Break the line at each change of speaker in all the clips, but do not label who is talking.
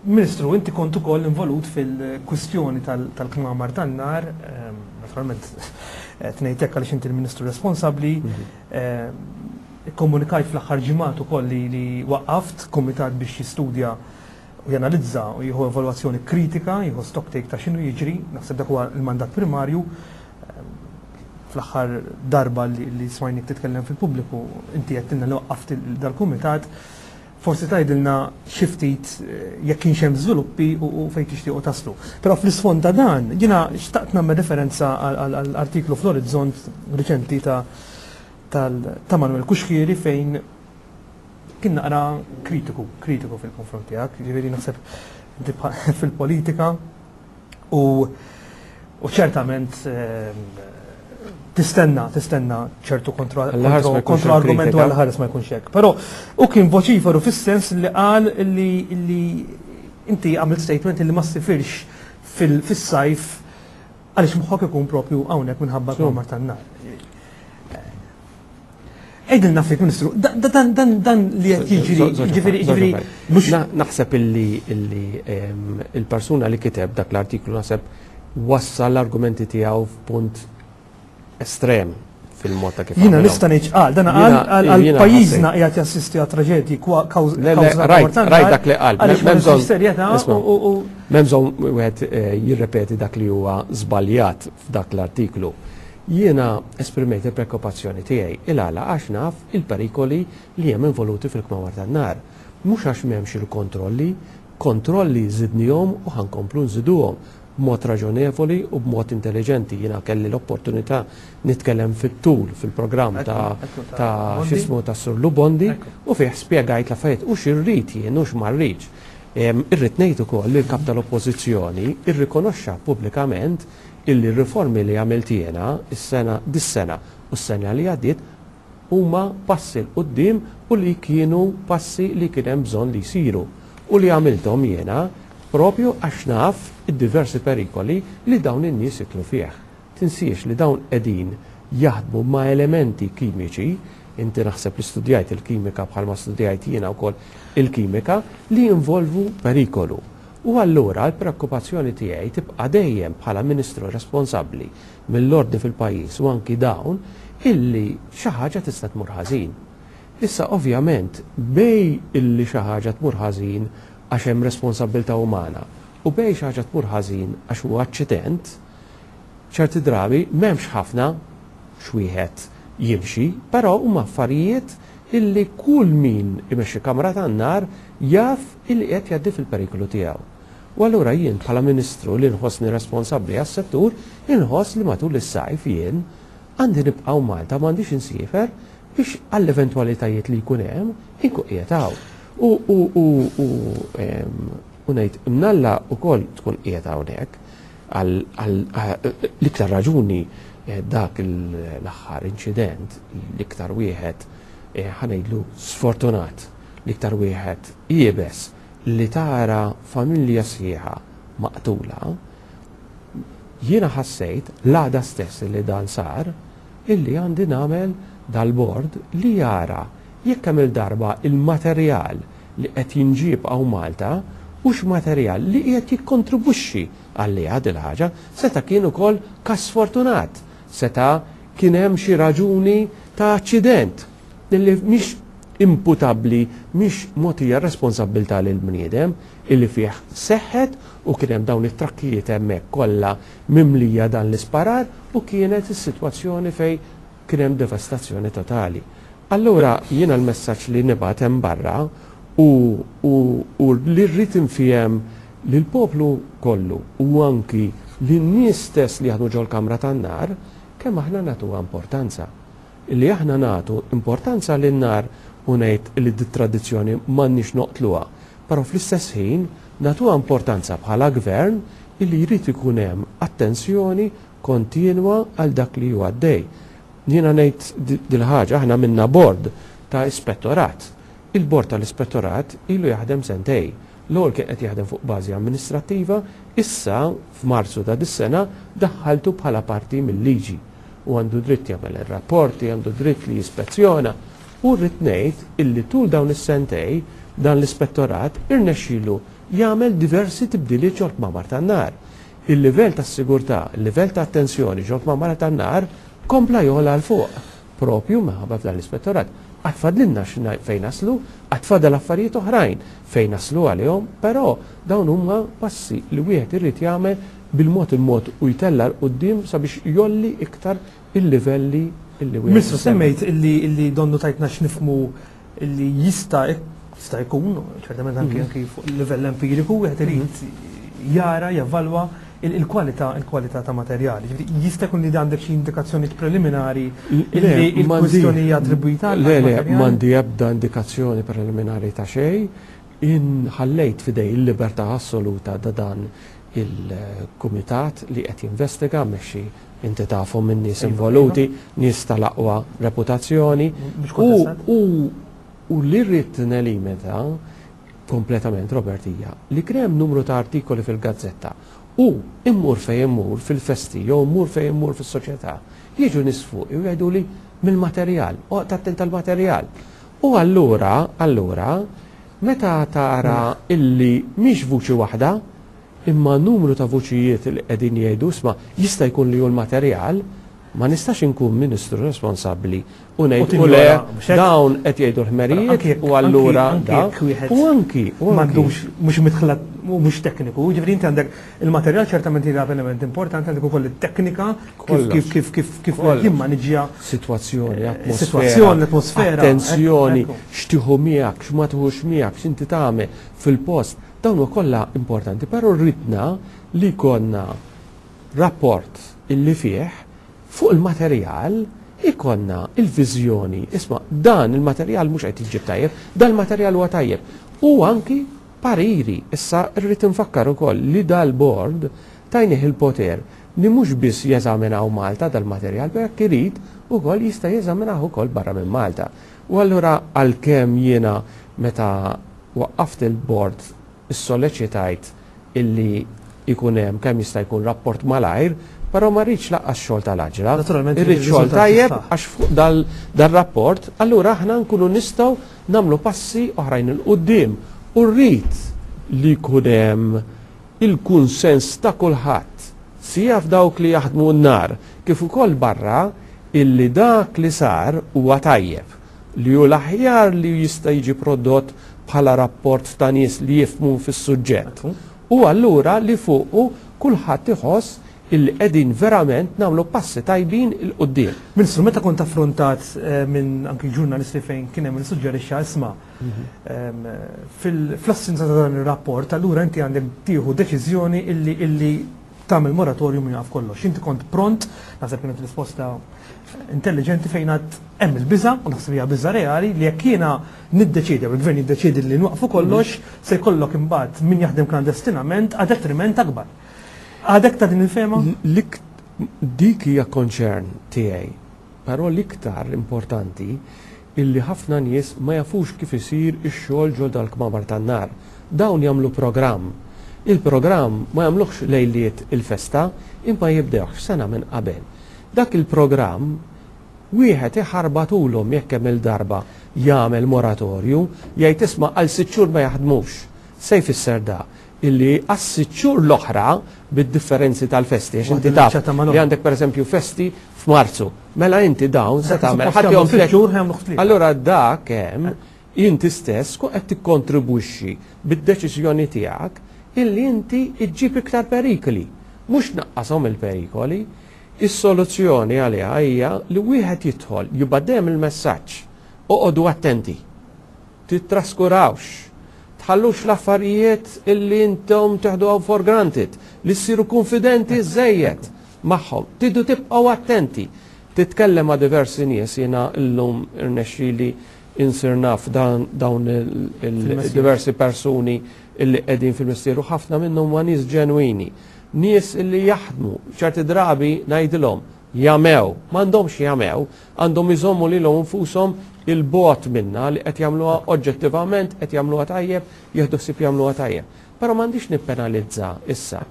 Ministru, inti kont ukoll involut fil-kwistjoni tal-kmamar tan-nar, naturalment qed ngħid hekk għaliex inti l-Ministru responsabbli. Ikkomunikajt fl-aħħar ġimgħat ukoll li waqqaft kumitat biex jistudja u janalizza u jieħu evalwazzjoni kritika, jieħu stock take ta' x'inhu jiġri, naħseb dak huwa l-mandat primarju. Fl-aħħar darba li smajnik titkellem fil-pubbliku, inti għedtilna li waqqaft dal-kumitat. Forsi tgħidilna xi ftit jekk kienx hemm żviluppi u fejn tixtiequ taslu. Però fl-isfond ta' dan, jiena xtaqt nagħmel referenza għal artiklu fl-Orizzont riċenti ta' ta' Manuel Cuschieri fejn kien naqra kritiku, kritiku fil-konfront tiegħek, ġifieri naħseb inti fil-politika u u ċertament tistenna, tistenna ċertu kontra argumentu għal ħares ma jkunx hekk. Però u kien voċiferu fis-sens li qal li inti għamilt statement li ma ssifirx fis-sajf għaliex moħħok ikun propju hawnhekk minħabba l-kmamar tan-nar. Għidilna ftit, Ministru, dan dan dan li qed jiġri, ġifieri ġifieri
mhux naħseb illi illi il-persuna li kiteb dak l-artiklu naħseb wassal l-argumenti tiegħu f'punt estrem fil-mod ta' kif.
Jiena nista' ngħid qal, dan qal għal pajjiżna qiegħed jassisti għal traġedji
kawża rajt dak li qal. M'hemm bżonn wieħed eh, jirrepeti dak li huwa żbaljat f'dak l-artiklu. Jiena esprimejt il-preokkupazzjoni tiegħi. Il-għala? Għax naf il-perikoli li hemm involuti fil-kmamar tan-nar. Mhux għax m'hemmx il-kontrolli, kontrolli żidnihom u ħa nkomplu nżiduhom b'mod raġonevoli u b'mod intelliġenti. Jiena kelli l-opportunità nitkellem fit-tul fil-programm ta' ta' x'ismu tas-Sur Lou Bondi u fih spjegajt l-affarijiet u x'irrid jien u x'ma rridx. Irrid ngħid ukoll li l-Kap tal-Oppożizzjoni rrikonoxxa pubblikament illi r-riformi li għamilt jiena s-sena dis-sena u s-sena li għaddiet huma passi 'l quddiem u li kienu passi li kien hemm bżonn li jsiru u li għamilthom jiena propju għax naf id-diversi perikoli li dawn in-nies jidħlu fih. Tinsiex li dawn qegħdin jaħdmu ma' elementi kimiċi, inti naħseb li studjajt il-kimika bħalma studjajt jiena wkoll il-kimika, li jinvolvu perikolu. U allura l-preokkupazzjoni tiegħi tibqa' dejjem bħala Ministru responsabbli mill-ordni fil-pajjiż u anki dawn illi xi ħaġa tista' tmur ħażin. Issa ovvjament bejn illi xi ħaġa tmur ħażin għax hemm responsabbiltà umana u bejn xi ħaġa tmur ħażin għax huwa aċċident, ċerti drabi m'hemmx ħafna x'wieħed jimxi, però huma affarijiet illi kull min imexxi kamra tan-nar jaf illi qiegħed jgħaddi fil-periklu tiegħu. U allura jien bħala Ministru li nħossni responsabbli għas-settur, inħoss li matul is-sajf jien għandi nibqa' hawn Malta m'għandix insiefer biex għall-eventwalitajiet li jkun hemm inkun qiegħed hawn. U u u u u ngħid imnalla wkoll tkun qiegħed hawnhekk għal l-iktar raġuni eh, dak l-aħħar inċident l-iktar wieħed eh, ħa ngħidlu sfortunat L-iktar wieħed iebes li tara familja sħiħa maqtula, jiena ħassejt l-għada stess li dan sar illi għandi nagħmel dal-bord li jara jekk kemm-il darba il-materjal li qed jinġieb hawn Malta hux materjal li qiegħed jikkontribwixxi għaliha dil-ħaġa. Seta' kien ukoll każ sfortunat, seta' kien hemm xi raġuni ta' aċċident Illi mhix imputabbli, mhix mogħtija r-responsabbiltà lill-bniedem illi fih seħħet u kien hemm dawn it-trakkijiet hemmhekk kollha mimlija dan l-isparar u kienet is-sitwazzjoni fejn kien hemm devastazzjoni totali. Allura jiena l-messaġġ li nibgħat hemm barra u u u li rrid infiehem lill-poplu kollu u anki lin-nies stess li jaħdmu ġol-kamra tan-nar kemm aħna nagħtuha importanza. Li aħna nagħtu importanza lin-nar u ngħid li dit-tradizzjoni m'għandniex noqtluha, però fl-istess ħin nagħtuha importanza bħala Gvern illi jrid ikun hemm attenzjoni kontinwa għal dak li hu għaddej. Jiena ngħid dil-ħaġa, aħna għamilna bord ta' ispettorat. Il-bord tal-ispettorat ilu jaħdem sentej. L-ewwel kien qed jaħdem fuq bażi amministrattiva, issa f'Marzu ta' dis-sena daħħaltu bħala parti mil-liġi. U għandu dritt jagħmel ir-rapporti, għandu dritt li jispezzjona. U rrid ngħid illi tul dawn is-sentej dan l-ispettorat irnexxielu jagħmel diversi tibdiliet ġol-kmamar tan-nar. Il-livell tas-sigurtà, il-livell ta' attenzjoni ġol-kmamar tan-nar kompla jogħla 'l fuq, propju minħabba f'dan l-ispettorat. Għad fadlilna fejn naslu, għad fadal affarijiet oħrajn fejn naslu għalihom, però dawn huma passi li wieħed irid jagħmel bil-mod il-mod u jtella' 'l quddiem sabiex jgħolli iktar il-livelli illi wieħed.
Ministru, semmejt illi donnu tajtna x'nifhmu illi jista' jista' jkun, ċertament anki anki fuq livell empiriku, wieħed irid jara, jevalwa il-kwalità il-kwalità ta' materjali. Ġifieri, jista' jkun li għandek xi indikazzjoni preliminari illi il-kwistjoni hija attribwita
Le, le, m'għandi ebda indikazzjoni preliminari ta' xejn. Inħallejt f'idej il-libertà assoluta da dan il-kumitat li qed jinvestiga mmexxi inti tafhom minn nies involuti, nies tal-aqwa reputazzjoni. U li rrid nelimita kompletament, Robert, hija li kien hemm numru ta' artikoli fil-gazzetta u immur fejn immur fil-festi jew immur fejn immur fis-soċjetà, jiġu nies fuqi u jgħidu li mill-materjal, oqgħod attent tal-materjal. U allura, allura, meta tara illi mhix vuċi waħda, imma numru ta' vuċijiet li qegħdin jgħidu isma' jista' jkun li hu l-materjal, ma nistax inkun ministru responsabbli u ngħid u le dawn qed jgħidu l-ħmerijiet u allura da.
U anki m'għandux mhux midħla mhux tekniku, ġifieri inti għandek il-materjal ċertament jilgħab element importanti, għandek ukoll it-teknika kif kif kif kif jimmaniġġja
sitwazzjoni, atmosfera,
sitwazzjoni, atmosfera,
attenzjoni, x'tieħu miegħek, x'ma tieħux miegħek, x'inti tagħmel fil-post. Dawn huma kollha importanti, però rridna li jkollna rapport illi fih fuq il-materjal ikollna il-viżjoni, isma' dan il-materjal mhux qed jiġġib tajjeb, dan il-materjal huwa tajjeb. U anki pariri. Issa rrid infakkar ukoll li dal-bord tajnih il-poter li mhux biss jeżaminaw Malta dal-materjal, però jekk irid ukoll jista' jeżaminah ukoll barra minn Malta. U allura għalkemm jiena meta waqqaft il-bord issoleċitajt illi jkun hemm kemm jista' jkun rapport malajr, però ma rridx laqqas xogħol tal-għaġla.
Naturalment,
Irrid xogħol tajjeb għax fuq dal-rapport allura aħna nkunu nistgħu nagħmlu passi oħrajn 'il quddiem u rrid li jkun hemm il-kunsens ta' kulħadd, sija f'dawk li jaħdmu n-nar kif ukoll barra, illi dak li sar huwa tajjeb, li hu l-aħjar li jista' jiġi prodott bħala rapport ta' nies li jifhmu fis-suġġett u allura li fuqu kulħadd iħoss illi qegħdin verament nagħmlu passi tajbin 'il quddiem.
Ministru, meta kont affrontat minn anki ġurnalisti fejn kien hemm min issuġġerixxa isma' fl-assenza ta' dan ir-rapport, allura inti għandek tieħu deċiżjoni illi illi tagħmel moratorium u jaqaf kollox. Inti kont pront, naħseb kienet risposta intelligenti fejn għad hemm il-biża' u naħseb hija biża' reali li jekk jiena niddeċiedi jew il-gvern jiddeċiedi li nwaqfu kollox, se jkollok imbagħad min jaħdem klandestinament għal detriment akbar. Għadek ta' din il-fehma?
Dik hija concern tiegħi, però l-iktar importanti illi ħafna nies ma jafux kif isir ix-xogħol ġo dal-kmamar tan-nar. Dawn jagħmlu programm. Il-programm ma jagħmluhx lejliet il-festa imma jibdewh sena minn qabel. Dak il-programm wieħed iħarbatulhom jekk kemm-il darba jagħmel moratorju, jgħid isma' għal sitt xhur ma jaħdmux. Se jfisser da? Illi għas-sitt xhur l-oħra bid-differenzi tal-festi, għax inti taf li għandek pereżempju festi f'Marzu, mela inti dawn se tagħmel ħadd jom tliet. Allura dak hemm inti stess tkun qed tikkontribwixxi bid-deċiżjoni tiegħek illi inti ġġib iktar perikli, mhux tnaqqashom il-perikoli. Is-soluzzjoni għaliha hija li wieħed jidħol jibgħat dejjem il-messaġġ, oqogħdu attenti. Tittraskurawx. Tħallux l-affarijiet illi intom teħduha for granted, li ssiru kunfidenti żżejjed magħhom. Tridu tibqgħu attenti. Titkellem ma' diversi nies, jiena llum irnexxieli insir naf dawn il-diversi persuni illi qegħdin fil-mestier u ħafna minnhom huma nies ġenwini. Nies illi jaħdmu, ċerti drabi ngħidilhom, jamew, m'għandhomx jamew, Għandhom iżommu lilhom infushom 'il bogħod minnha li qed jagħmluha oġġettivament, qed jagħmluha tajjeb, jieħdu ħsieb jagħmluha tajjeb. Però m'għandix nippenalizza issa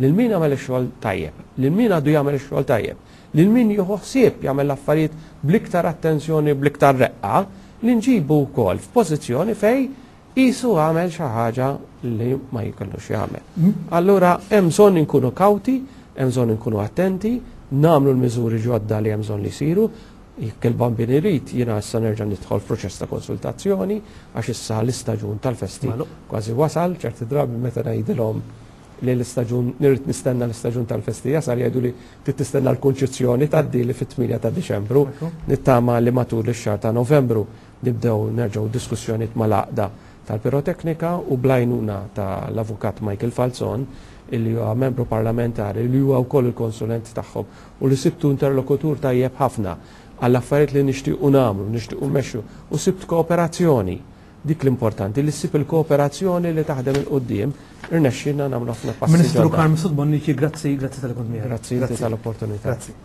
lil min għamel ix-xogħol tajjeb, lil min għadu jagħmel ix-xogħol tajjeb, lil min jieħu ħsieb jagħmel l-affarijiet bl-iktar attenzjoni, bl-iktar reqqa, li nġibu wkoll f'pożizzjoni fejn Qisu għamel xi ħaġa li ma jkollux jagħmel. Allura hemm bżonn inkunu kawti, hemm bżonn inkunu attenti, nagħmlu l-miżuri ġodda li hemm bżonn li jsiru. Jekk il-Bambin irid, jiena issa nerġa' nidħol f'proċess ta' konsultazzjoni għax issa l-istaġun tal-festi kważi wasal, ċerti drabi meta ngħidilhom li l-istaġun nirrid nistenna l-istaġun tal-festi jasal jgħidu li trid tistenna l-Kunċizzjoni tgħaddi li fit-8 ta' Diċembru. Nittama li matul ix-xahar ta' Novembru Nibdew nerġgħu diskussjonijiet mal-Għaqda tal-Piroteknika u bl-għajnuna ta' l-Avukat Michael Falzon illi huwa membru parlamentari li huwa wkoll il-konsulent tagħhom u li sibtu interlokutur tajjeb ħafna għall-affarijiet li nixtiequ nagħmlu, nixtiequ mmexxu u sibt kooperazzjoni. Dik l-importanti li ssib il-kooperazzjoni li taħdem 'il quddiem, irnexxielna nagħmlu ħafna passi
Ministru Carm Sud Bonnici, grazzi, grazzi talli kont miegħi.
Grazzi inti tal-opportunità.
Grazzi.